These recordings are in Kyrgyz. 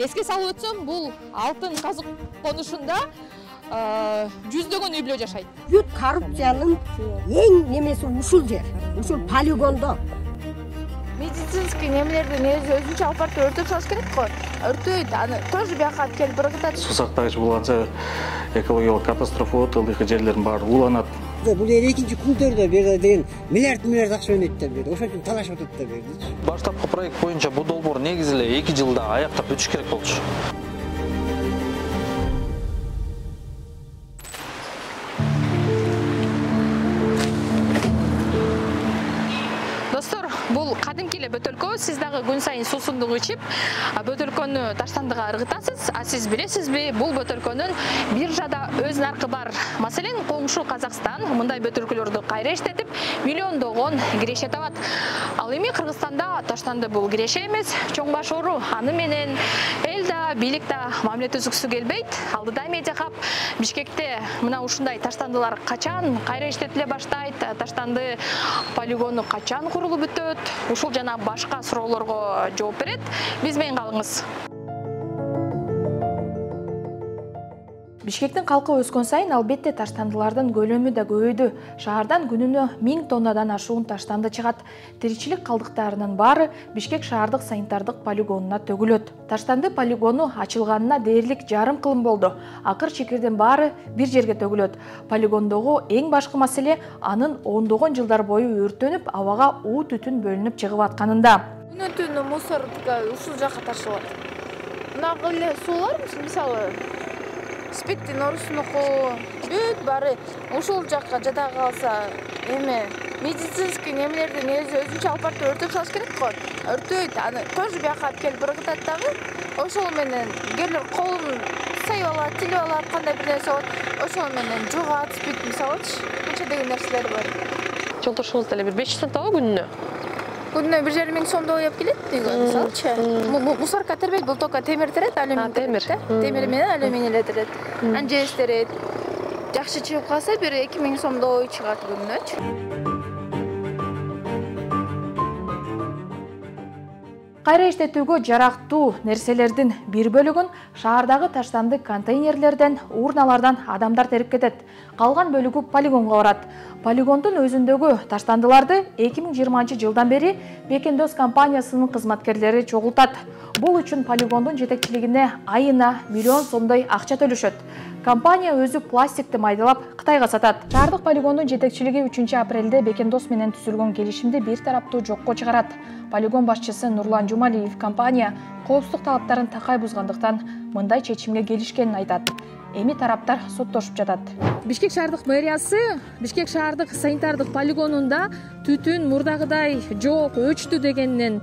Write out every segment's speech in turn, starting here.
Эске салып өтсөм, бул алтын казык конушунда жүздөгөн үй бүлө жашайт. Бүт коррупциянын эң немеси ушул жер, ушул полигондо. Медицинский немелерди негизи өзүнчө алып барып өртөп салыш керек го. Өртөйт, аны тоже бияка алып келип ыргытат. Суу сактагыч булганча экологиялык катастрофа болот, ылдыйкы жерлердин баары ууланат. Бул экинчи күндөрдө бир деген миллиард акча өнөйт да берди. Ошол үчүн талашып атат да берди. Баштапкы проект боюнча бул долбоор негизи эле 2 жылда аяктап бүтүш керек болчу. Бул кадимки эле бөтөлкө, сиз дагы күн сайын суусундук ичип, бөтөлкөнү таштандыга ыргытасыз. А сиз билесизби, бул бөтөлкөнүн биржада өз наркы бар. Маселен, коңшу Казакстан мындай бөтөлкөлөрдү кайра иштетип, миллиондогон киреше табат. Ал эми Кыргызстанда таштанды бул киреше эмес, чоң баш оору. Аны менен эл да, бийлик да мамиле түзүксү келбейт. Алдыда Медиа Хаб Бишкекте мына ушундай таштандылар качан кайра иштетиле баштайт, таштанды полигону качан курулуп бүтөт, ушул жана башка суроолорго жооп берет. Биз менен калыңыз. Бишкектин калкы өскөн сайын албетте таштандылардын көлөмү да көбөйдү. Шаардан күнүнө 1000 тоннадан ашуун таштанды чыгат. Тиричилик калдыктарынын баары Бишкек шаардык санитардык полигонуна төгүлөт. Таштанды полигону ачылганына дээрлик жарым кылым болду. Акыр чекирдин баары бир жерге төгүлөт. Полигондогу эң башкы маселе анын ондогон жылдар бою өрттөнүп, абага уу түтүн бөлүнүп чыгып атканында. Күнү-түнү мусор ушул жакка ташылат. Мына эле суулар мисалы Спиттин орусунуку бүт баары ушул жакка жада калса, эме медицинский немелерди негизи өзүнчө алып барып өртөп салыш керек го. Өртөйт, аны тоже бияка алып келип ыргытат дагы. Ошол менен кээрлер колун сайып алат, тилип алат, кандай бир нерсе болот. Ошол менен жугат, спит мисалычы, канча деген нерселер бар. Жолдошуңуз деле бир 500 сом табабы күнүнө? Күнүнө 1,5 сомдой алып келет деген мисалычы. Мусорка тербейт, бул только темир терет, алюминий терет. Темир менен алюминий эле терет. Анжес терет. Жакшы чыгып калса бир 2000 сомдой чыгат күнүнөчү. Кайра иштетүүгө жарактуу нерселердин бир бөлүгүн шаардагы таштанды контейнерлерден, урналардан адамдар терип кетет. Калган бөлүгү полигонго барат. Полигондун өзүндөгү таштандыларды 2020 жылдан бери Бекендос компаниясынын кызматкерлери чогултат. Бул үчүн полигондун жетекчилигине айына миллион сомдой акча төлөшөт. Компания өзү пластикти майдалап Кытайга сатат. Шаардык полигондун жетекчилиги 3 апрелде Бекендос менен түзүлгөн келишимди бир тараптуу жокко чыгарат. Полигон башчысы Нурлан Жумалиев компания коопсуздук талаптарын такай бузгандыктан мындай чечимге келишкенин айтат. Эми тараптар соттошуп жатат. Бишкек шаардык мэриясы Бишкек шаардык санитардык полигонунда түтүн мурдагыдай жок, өчтү дегеннен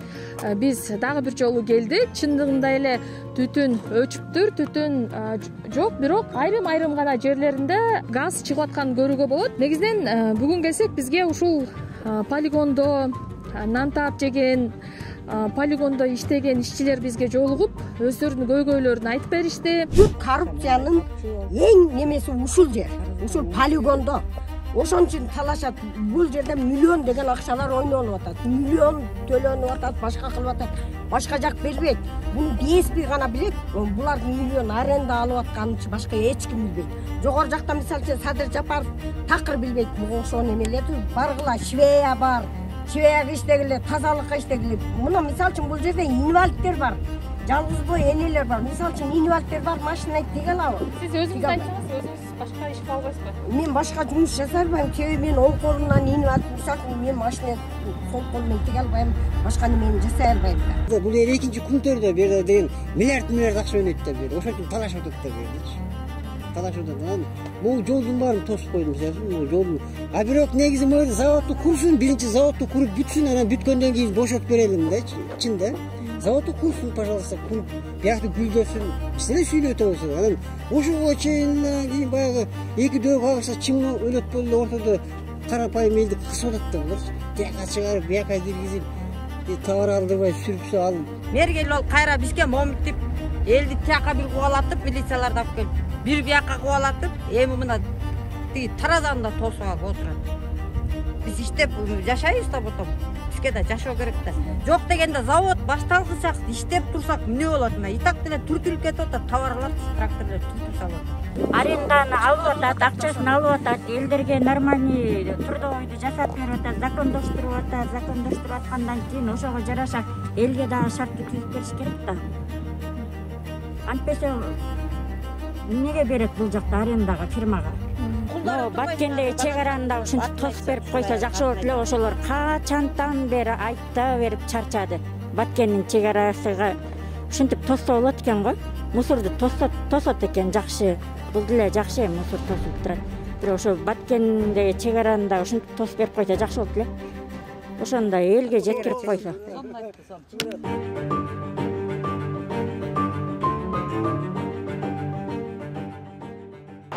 биз дагы бир жолу келдик. Чындыгында эле түтүн өчүптүр, түтүн жок, бирок айрым гана жерлеринде газ чыгып атканын көрүүгө болот. Негизинен бүгүн келсек бизге ушул полигондо нан таап жеген, полигондо иштеген ишчилер бизге жолугуп, өздөрүнүн көйгөйлөрүн айтып беришти. Бүт коррупциянын эң немеси ушул жер, ушул полигондо. Ошон үчүн талашат. Бул жерде миллион деген акчалар ойнолуп атат. Миллион төлөнүп атат, башка кылып атат. Башка жак бербейт. Буну ДСП гана билет. Булардын миллион аренда алып атканын башка эч ким билбейт. Жогору жакта мисалы үчүн Садыр Жапаров такыр билбейт. Бул ошол немелерди баргыла, Швея бар. Швеяга иштегиле, тазалыкка иштегиле. Мына мисалы үчүн бул жерде инвалидтер бар. Жалгыз бой энелер бар. Мисалы үчүн инвалидтер бар, машина тиге алабы? Сиз өзүңүз айтсаңыз, өзүңүз башка иш кыла албайсызбы? Мен башка жумуш жасай албайм. Себеби мен оң колумдан инвалид, мисалы үчүн мен машина сол кол менен тиге албайм, башка немени жасай албайм да. Бул экинчи күндөрдө бир деген миллиард акча өнөйт да берди. Ошол үчүн талашып атат да бердичи. Талашып атат. Бул жолдун баарын тосуп койдум, мисалы жолдун. А бирок негизи мына заводду курсун, биринчи заводду куруп бүтсүн, анан бүткөндөн кийин бошотуп берелим да, чын да. Заводду курсун, пожалуйста, куруп, биякты гүлдөсүн. Биз эле сүйлөп атабыз. Анан ошого чейин кийин баягы эки дөп кагышса чыңы өлөт болду, ортодо карапайым элди кысып атат да булар. Тияка чыгарып, бияка киргизип, товар алдырбай сүрүп алып. Мергел ол кайра бизге момуттип, элди тияка бир кубалатып, милицияларды алып келип, бир бияка кубалатып, эми мына тиги таразанда тосуп алып отурат. Биз иштеп жашайбыз да потом. Бизге да жашоо керек да. Жок дегенде завод башталгычак иштеп турсак эмне болот? Мына итак деле түртүлүп кетип атат, товарлар тракторлор түртүп салат. Аренданы алып атат, акчасын алып атат, элдерге нормальный трудовойду жасап берип атат, закондоштуруп аткандан кийин ошого жараша элге дагы шартты түзүп бериш керек да. Антпесе эмнеге берет бул жакта арендага, фирмага? Баткендеги чек араны дагы ушинтип тосуп берип койсо жакшы болот эле. Ошолор качантан бери айта берип чарчады. Баткендин чек арасыга ушинтип тосса болот экен го. Мусорду тосот экен жакшы. Бул деле жакшы мусор тосуп турат. Бирок ошо Баткендеги чек араны дагы ушинтип тосуп берип койсо жакшы болот эле. Ошондо элге жеткирип койсо.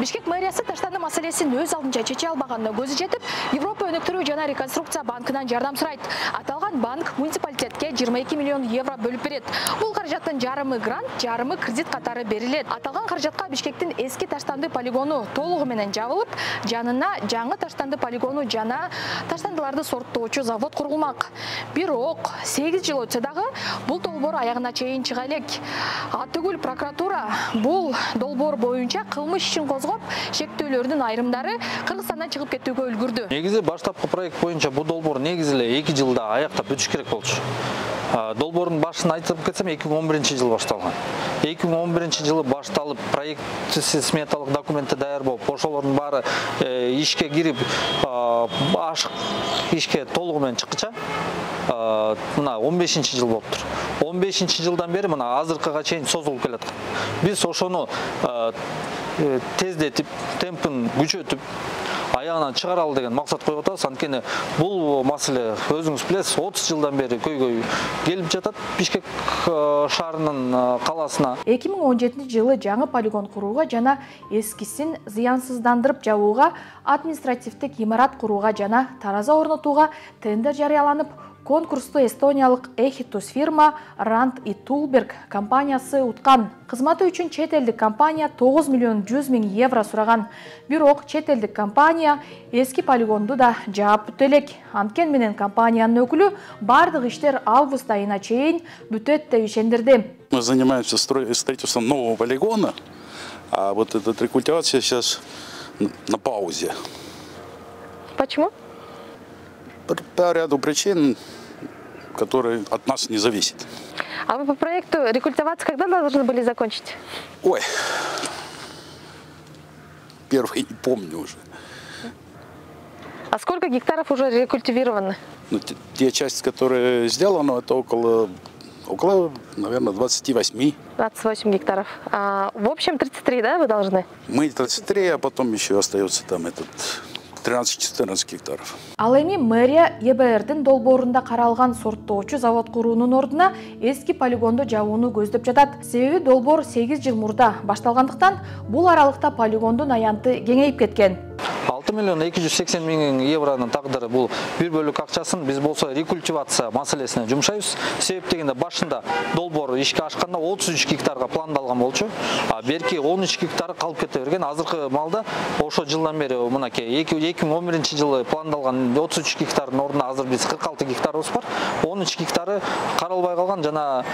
Бишкек мэриясы таштанды маселесин өз алдынча чече албаганына көзү жетип, Европа өнүктүрүү жана реконструкция банкынан жардам сурайт. Аталган банк муниципалитетке 22 миллион евро бөлүп берет. Бул каражаттын жарымы грант, жарымы кредит катары берилет. Аталган каражатка Бишкектин эски таштанды полигону толугу менен жабылып, жанына жаңы таштанды полигону жана таштандыларды сорттоочу завод курулмак. Бирок 8 жыл өтсө дагы бул долбоор аягына чейин чыга элек. Атүгүл прокуратура бул долбоор боюнча кылмыш ишин козгоп, шектөөлөрдүн айрымдары Кыргызстандан чыгып кетүүгө үлгүрдү. Негизи баштапкы проект боюнча бул долбоор негизи эле 2 жылда аяктап бүтүш керек болчу. Долбоордун башын айтып кетсем 2011 жылы башталган. 2011 жылы башталып, проект сметалык документи даяр болуп, ошолордун баары ишке кирип, ашык ишке толугу менен чыккыча мына 15 жыл болуптур. 15 жылдан бери мына азыркыга чейин созулуп келаткан. Биз ошону тездетип, темпин күчөтүп, аягынан чыгаралы деген максат коюп атабыз. Анткени бул маселе өзүңүз билесиз, 30 жылдан бери көйгөй келип жатат Бишкек шаарынын калаасына. 2017 жылы жаңы полигон курууга жана эскисин зыянсыздандырып жабууга, административдик имарат курууга жана тараза орнотууга тендер жарыяланып, конкурсту эстониялык Эхитус фирма Rand и Тулберг компаниясы уткан. Кызматы үчүн чет элдик компания 9 миллион 100 миң евро сураган. Бирок чет элдик компания эски полигонду да жаап бүтө элек. Анткени менен компаниянын өкүлү бардык иштер август айына чейин бүтөт деп ишендирди. Мы занимаемся строительством нового полигона, а вот эта рекультивация сейчас на паузе. Почему? По ряду причин, которые от нас не зависят. А вы по проекту рекультивацию когда должны были закончить? Ой, первый не помню уже. А сколько гектаров уже рекультивированы? Ну, те части, которые сделаны, это около, наверное, 28. 28 гектаров. А в общем 33, да, вы должны? Мы 33, а потом еще остается там этот 13-14 гектаров. Ал эми мэрия ЕБРдин долбоорунда каралган сорттоочу завод куруунун ордуна эски полигонду жабууну көздөп жатат. Себеби долбоор 8 жыл мурда башталгандыктан бул аралыкта полигондун аянты кеңейип кеткен. 6 миллион 280 миң евронун тагдыры бул бир бөлүк акчасын биз болсо рекультивация маселесине жумшайбыз. Себеп дегенде башында долбоор ишке ашканда 33 гектарга пландалган болчу. А берки 13 гектары калып кете берген. Азыркы малда ошо жылдан бери мынакей 2011 жылы пландалган 33 гектардын ордуна азыр биз 46 гектарыбыз бар. 13 гектары каралбай калган жана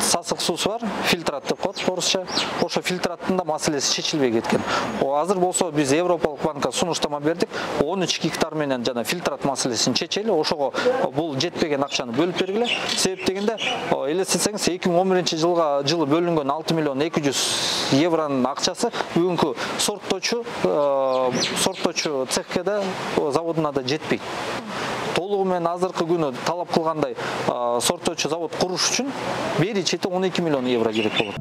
сасык суусу бар, фильтрат деп коет орусча. Ошо фильтраттын да маселеси чечилбей кеткен. Азыр болсо биз Европалык банкка сунуштама бердик. 13 гектар менен жана фильтрат маселесин чечели. Ошого бул жетпеген акчаны бөлүп бергиле. Себеп дегенде элестетсеңиз 2011 жылы бөлүнгөн 6 миллион 200 евронун акчасы бүгүнкү сорттоочу цехке да заводуна да жетпейт. Толугу менен азыркы күнү талап кылгандай сорттоочу завод куруш үчүн бери чети 12 миллион евро керек болот.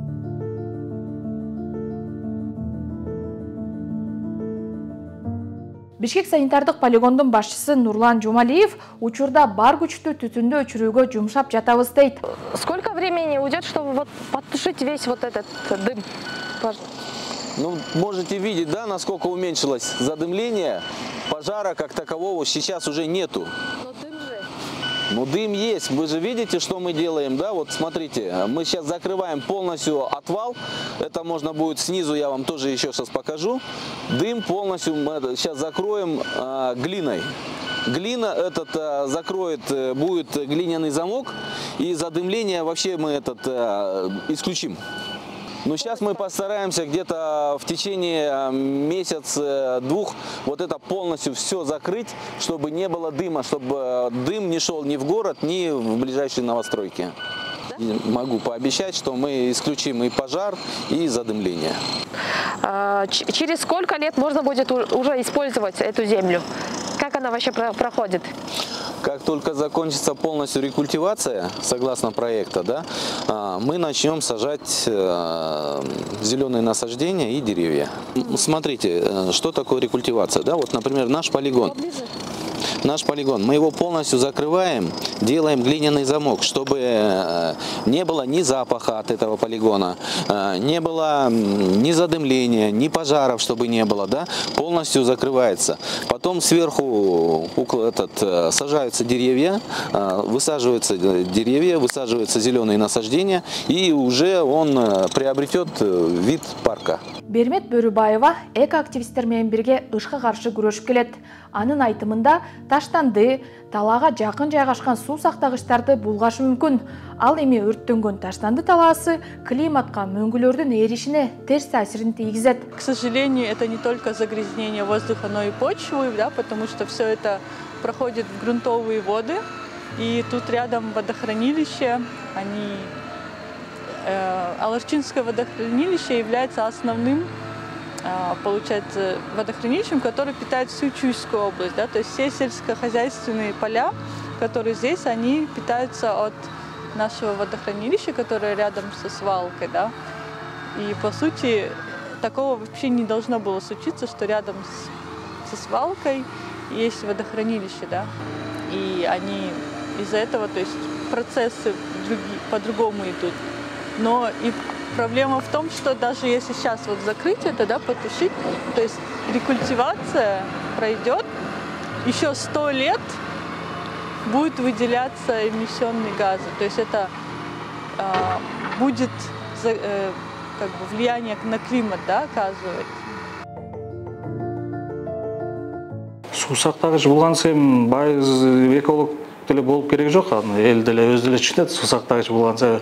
Бишкек санитардык полигондун башчысы Нурлан Жумалиев учурда бар күчтү түтүндү өчүрүүгө жумшап жатабыз дейт. Сколько времени уйдет, чтобы вот потушить весь вот этот дым? Ну, можете видеть, да, насколько уменьшилось задымление. Пожара как такового сейчас уже нету. Но дым же. Ну, дым есть. Вы же видите, что мы делаем, да? Вот смотрите, мы сейчас закрываем полностью отвал. Это можно будет снизу, я вам тоже еще сейчас покажу. Дым полностью мы сейчас закроем глиной. Глина этот закроет, будет глиняный замок, и задымление вообще мы этот исключим. Но сейчас мы постараемся где-то в течение месяца-двух вот это полностью все закрыть, чтобы не было дыма, чтобы дым не шел ни в город, ни в ближайшие новостройки. Могу пообещать, что мы исключим и пожар, и задымление. Через сколько лет можно будет уже использовать эту землю? Как она вообще проходит? Как только закончится полностью рекультивация, согласно проекта, да, мы начнем сажать зеленые насаждения и деревья. Смотрите, что такое рекультивация. Да? Вот, например, наш полигон. Мы его полностью закрываем, делаем глиняный замок, чтобы не было ни запаха от этого полигона, не было ни задымления, ни пожаров, чтобы не было, да? Полностью закрывается. Потом сверху сажаются деревья, высаживаются зеленые насаждения, и уже он приобретет вид парка. Бермет Бөрүбаева экоактивисттер менен бирге ышка каршы күрөшүп келет. Анын айтымында таштанды, талаага жакын жайгашкан суу сактагычтарды булгашы мүмкүн. Ал эми өрттөнгөн таштанды талаасы климатка мөңгүлөрдүн эришине терс таасирин тийгизет. К сожалению, это не только загрязнение воздуха, но и почвы, да, потому что все это проходит в грунтовые воды. И тут рядом водохранилище, Аларчинское водохранилище является основным, получается, водохранилищем, которое питает всю Чуйскую область. Да? То есть все сельскохозяйственные поля, которые здесь, они питаются от нашего водохранилища, которое рядом со свалкой. Да? И по сути, такого вообще не должно было случиться, что рядом со свалкой есть водохранилище. Да? И они из-за этого, то есть процессы по-другому идут. Но и проблема в том, что даже если сейчас вот закрыть это, да, потушить, то есть рекультивация пройдет, еще 100 лет будет выделяться эмиссионные газы. То есть это будет как бы влияние на климат, да, оказывать. Суу сактагыч болгон сайын байыз эколог деле болуп кереги жок, эл деле өзү деле түшүнөт. Суу сактагыч болгонса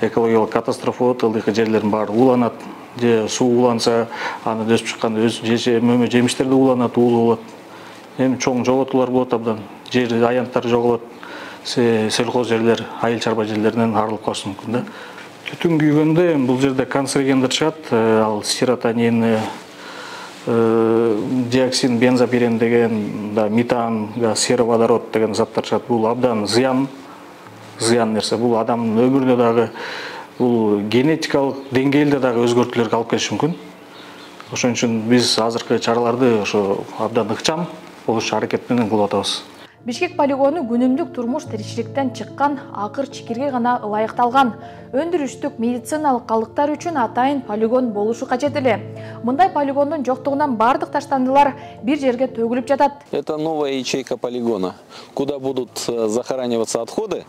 экологиялык катастрофа болот, ылдыйкы жерлердин баары ууланат, же суу ууланса аны өсүп чыккан мөмө жемиштер да ууланат, уулуу болот. Эми чоң жоготуулар болот абдан, жер аянттар жоголот, сельхоз жерлер, айыл чарба жерлеринен арылып калышы мүмкүн да. Түтүн күйгөндө бул жерде канцерогендер чыгат, ал серотонин, диоксин, бензопирен деген, метан, сероводород деген заттар чыгат. Бул абдан зыян нерсе. Бул адамдын өмүрүнө дагы, бул генетикалык деңгээлде дагы өзгөртүүлөргө алып келиши мүмкүн. Ошон үчүн биз азыркы чараларды ошо абдан ыкчам болуш аракет менен кылып атабыз. Бишкек полигону күнүмдүк турмуш тиричиликтен чыккан акыр чикирге гана ылайыкталган. Өндүрүштүк медициналык калдыктар үчүн атайын полигон болушу кажет эле. Мындай полигондун жоктугунан бардык таштандылар бир жерге төгүлүп жатат. Это новая ячейка полигона, куда будут захораниваться отходы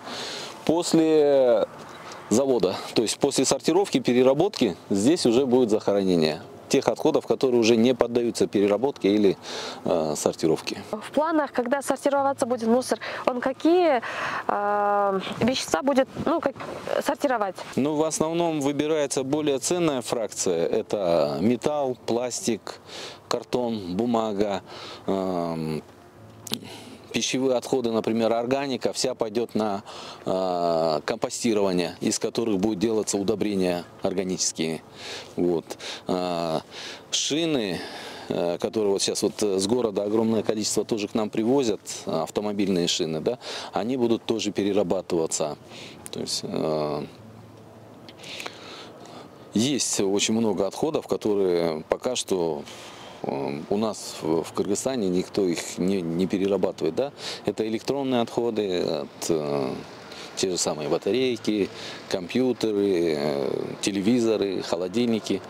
после завода. То есть после сортировки, переработки здесь уже будет захоронение тех отходов, которые уже не поддаются переработке или сортировке. В планах, когда сортироваться будет мусор, он какие вещества будет сортировать? Ну, в основном выбирается более ценная фракция. Это металл, пластик, картон, бумага, пищевые отходы, например, органика, вся пойдет на компостирование, из которых будет делаться удобрения органические. Вот. Шины, которые вот сейчас вот с города огромное количество тоже к нам привозят, автомобильные шины, да, они будут тоже перерабатываться. То есть очень много отходов, которые пока что у нас в Кыргызстане никто их не перерабатывает. Да? Это электронные отходы от те же самые батарейки, компьютеры, телевизоры, холодильники.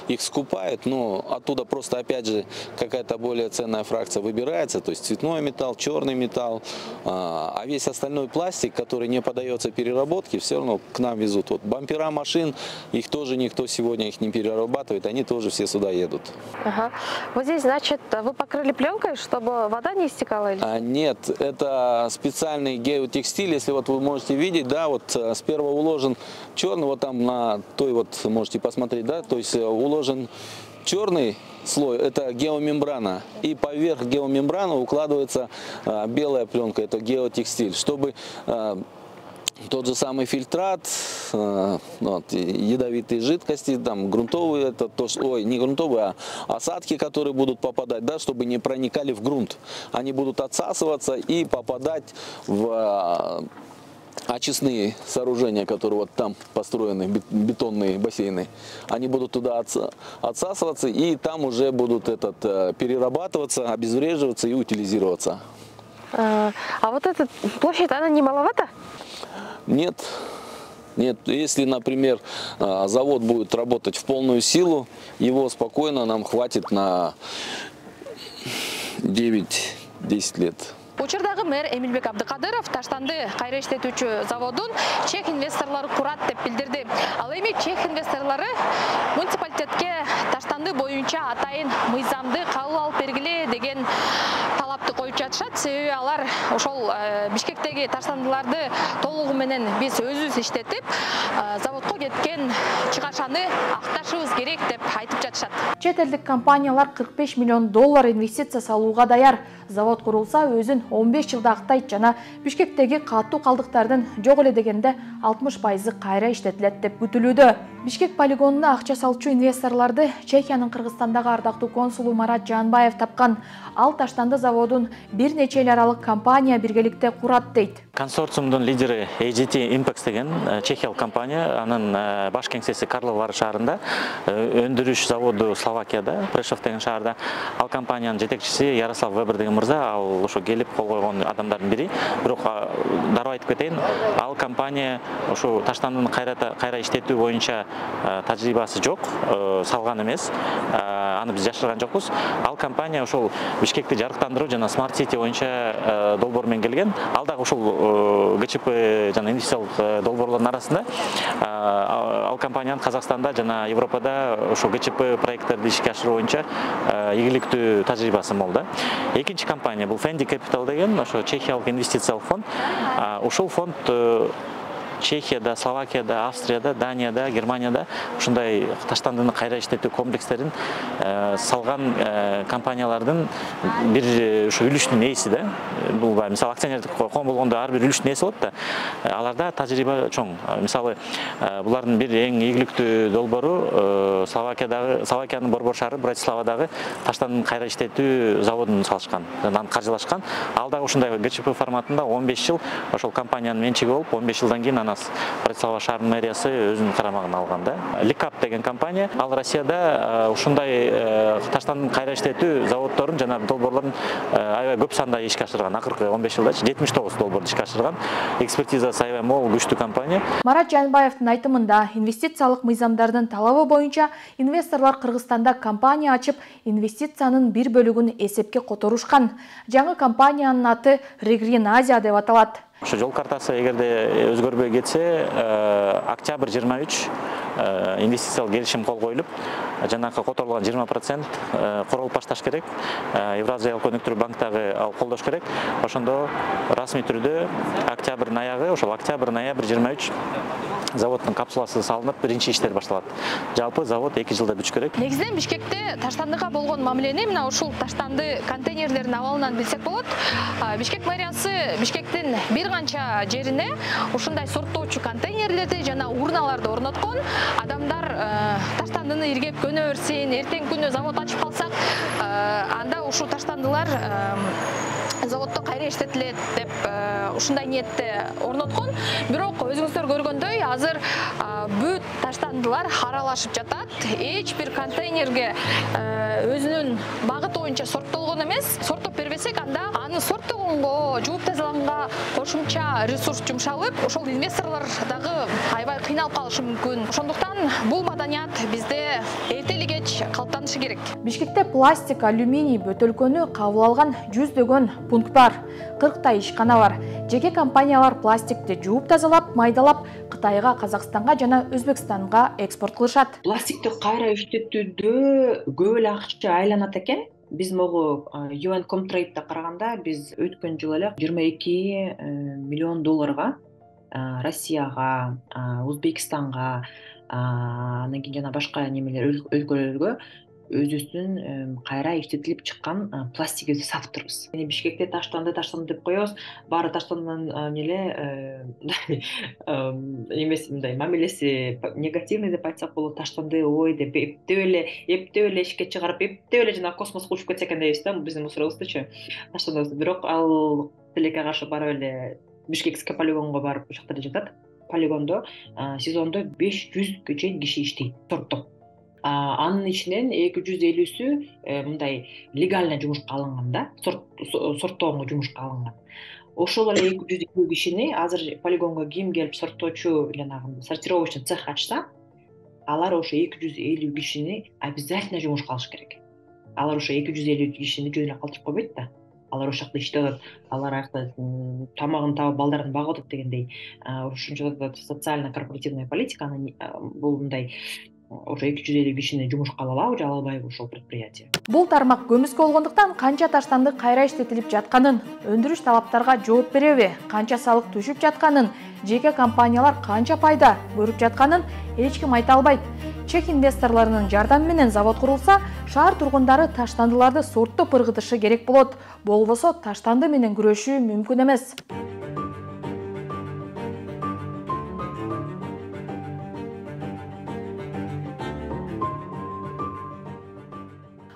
Их скупают, но оттуда просто, опять же, какая-то более ценная фракция выбирается, то есть цветной металл, черный металл, а весь остальной пластик, который не поддается переработке, все равно к нам везут. Вот бампера машин, их тоже никто сегодня их не перерабатывает, они тоже все сюда едут. Ага. Вот здесь, значит, вы покрыли пленкой, чтобы вода не истекала? Или? Нет, это специальный геотекстиль, если вот вы можете видеть, да, вот сперва уложен черный, вот там на той вот можете посмотреть, да, то есть уложен черный слой, это геомембрана, и поверх геомембраны укладывается белая пленка, это геотекстиль, чтобы тот же самый фильтрат, вот, ядовитые жидкости, там грунтовые, это то, ой, не грунтовые, а осадки, которые будут попадать, да, чтобы не проникали в грунт. Они будут отсасываться и попадать в очистные сооружения, которые вот там построены, бетонные бассейны. Они будут туда отсасываться, и там уже будут перерабатываться, обезвреживаться и утилизироваться. А вот эта площадь, она не маловата? Нет. Нет, если, например, завод будет работать в полную силу, его спокойно нам хватит на 9-10 лет. Учурдагы мэр Эмилбек Абдыкадыров Таштанды кайра иштетүүчү заводун чек инвесторлору курат деп билдирди. Ал эми чек инвесторлору муниципалитетке Таштанды боюнча атайын мыйзамды кабыл алып бергиле деген талапты коюп жатышат. Себеби алар ошол Бишкектеги таштандыларды толугу менен биз өзүбүз иштетип, заводко кеткен чыгашаны акташыбыз керек деп айтып жатышат. Чет элдик компаниялар $45 миллион инвестиция салууга даяр. Завод курулса өзүн 15 жылда актайт жана Бишкектеги катуу калдыктардын жок эле дегенде 60% кайра иштетилет деп күтүлүүдө. Бишкек полигонуна акча салчу инвесторлорду Чехиянын Кыргызстандагы ардактуу консулу Марат Жанбаев тапкан. Ал Таштанды заводун бир нече эл аралык компания биргеликте курат дейт. Консорциумдун лидери AGT Impex деген чехиялык компания, анын баш кеңсеси Карловар шаарында, өндүрүш заводу Словакияда, Прешов деген шаарда. Ал компаниянын жетекчиси Ярослав Вебер деген мырза, ал ошо келип кол койгон адамдардын бири. Бирок дароо айтып кетейин, ал компания ошо Таштандын кайра иштетүү боюнча тажрыйбасы жок, салган эмес. Аны биз жашырган жокпуз. Ал компания ошол Бишкекти жарыктандыруу жана Smart City боюнча долбоор менен келген. Ал дагы ошол ГЧП жана инвестициялык долбоорлордун арасында ал компаниянын Казакстанда жана Европада ошол ГЧП проекттерди ишке ашыруу боюнча ийгиликтүү тажрыйбасы мол да. Экинчи компания бул Fendi Capital деген ошо чехиялык инвестициялык фонд. Ошол фонд Чехияда, Словакияда, Австрияда, Данияда, Германияда ушундай Таштандыны кайра иштетүү комплекстерин салган компаниялардын бир ушу үлүштүн ээси да. Бул мисалы акционердик ком болгондо ар бир үлүштүн ээси болот да. Аларда тажрыйба чоң. Мисалы булардын бир эң ийгиликтүү долбоору Словакиянын Борбор шаары Братиславадагы Таштандын кайра иштетүү заводун салышкан, аны каржылашкан. Ал дагы ушундай ГЧП форматында 15 жыл ошол компаниянын менчиги болуп, 15 жылдан кийин Братислава шаарынын мэриясы өзүнүн карамагына алган да. Ликап деген компания, ал Россияда ушундай Таштандын кайра иштетүү заводдорун жана долбоорлорун аябай көп санда ишке ашырган. Акыркы 15 жылда 79 долбоорду ишке ашырган. Экспертизасы аябай мол, күчтүү компания. Марат Жанбаевдин айтымында, инвестициялык мыйзамдардын талабы боюнча инвесторлор Кыргызстанда компания ачып, инвестициянын бир бөлүгүн эсепке которушкан. Жаңы компаниянын аты Regreen Asia деп аталат. Ошо жол картасы эгерде өзгөрбөй кетсе, октябрь 23 инвестициялык келишим кол коюлуп, жанакы которулган 20% королуп башташ керек. Евразиялык өнүктүрүү банктагы ал колдош керек. Ошондо расмий түрдө октябрдын аягы, ошол октябрь-ноябрь 23 заводдун капсуласы салынып, биринчи иштер башталат. Жалпы завод 2 жылда бүтүш керек. Негизинен Бишкекте Таштандыга болгон мамилени мына ушул Таштанды контейнерлердин абалынан билсек болот. Бишкек мэриясы Бишкектин бир канча жерине ушундай сорттоочу контейнерлерди жана урналарды орноткон. Адамдар Таштандыны иргеп көнө берсин, эртең күнү завод ачып калсак, анда ушул таштандылар заводдо кайра иштетилет деп ушундай ниетте орноткон. Бирок өзүңүздөр көргөндөй, азыр бүт таштандылар аралашып жатат. Эч бир контейнерге өзүнүн багыты боюнча сорттолгон эмес. Сорттоп бербесек, анда аны сорттогон полигонго жууп тазаланганга кошумча ресурс жумшалып, ошол инвесторлор дагы аябай кыйналып калышы мүмкүн. Ошондуктан бул маданият бизде эртели кеч калыптанышы керек. Бишкекте пластик, алюминий бөтөлкөнү кабыл алган жүздөгөн пункт бар. 40 ишкана бар. Жеке компаниялар пластикти жууп тазалап, майдалап Кытайга, Казакстанга жана Өзбекстанга экспорт кылышат. Пластикти кайра иштетүүдө көп эле акча айланат экен. Биз могу UN Comtrade'де караганда биз өткөн жылы эле 22 миллион долларга Россияга, Өзбекстанга, анан кийин жана башка немелер өлкөлөргө өзүбүздүн кайра иштетилип чыккан пластикти сатып турбуз. Бишкекте таштанды деп коебуз. Баары таштандын эмеси мындай мамилеси негативный деп айтсак болот. Таштанды ой деп эптеп эле ишке чыгарып, эптеп эле жана космоско учуп кетсе экен дейбиз да, биздин мусорубуздучу. Таштандыбыз. Бирок ал тилекке каршы барып эле Бишкекский полигонго барып ошол жерде жатат. Полигондо сезондо 500 чейин киши иштейт, сорттоп. Анын ичинен 250-сү мындай легально жумушка алынган да, сорттоого жумушка алынган. Ошол эле 250 кишини азыр полигонго ким келип сорттоочу жанагы сортировочный цех ачса, алар ошо 250 кишини обязательно жумушка алыш керек. Алар ошо 250 кишини жөн эле калтырып койбойт да. Алар ошол жакта иштеп, алар аякта тамагын таап, балдарын багып атат дегендей. Ошончо социально-корпоративная политиканы бул мындай ошо 250 кишини жумушка алабы же албайбы ошол предприятие. Бул тармак көмүскө болгондуктан канча таштанды кайра иштетилип жатканын, өндүрүш талаптарга жооп береби, канча салык түшүп жатканын, жеке компаниялар канча пайда көрүп жатканын эч ким айта албайт. Чек инвесторлорунун жардамы менен завод курулса, шаар тургундары таштандыларды сорттоп ыргытышы керек болот. Болбосо таштанды менен күрөшүү мүмкүн эмес.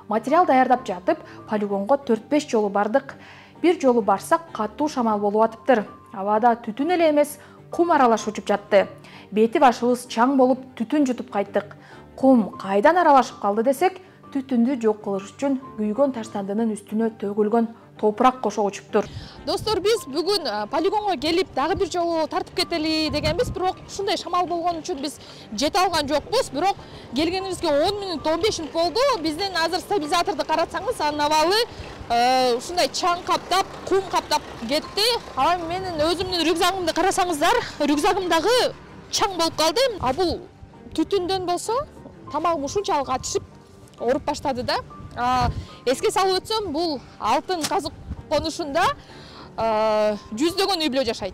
Материал даярдап жатып, полигонго 4-5 жолу бардык. Бир жолу барсак, катуу шамал болуп атыптыр. Абада түтүн эле эмес, кум аралаш учуп жатты. Бети башыбыз чаң болуп, түтүн жутуп кайттык. Кум кайдан аралашып калды десек, түтүндү жок кылыш үчүн күйгөн таштандынын үстүнө төгүлгөн топурак кошо учуптур. Достор, биз бүгүн полигонго келип дагы бир жолу тартып кетели дегенбиз, бирок ушундай шамал болгон үчүн биз жете алган жокпуз. Бирок келгенибизге 10 мүнөт, 15 мүнөт болду. Бизден азыр стабилизаторду карасаңыз, анын абалы ушундай чаң каптап, кум каптап кетти. Ала менин өзүмдүн рюкзагымды карасаңыздар, рюкзагым дагы чаң болуп калды. А бул түтүндөн болсо, тамагым ушунчалык ачышып, ооруп баштады да. Эске салып өтсөм, бул алтын казык конушунда жүздөгөн үй бүлө жашайт.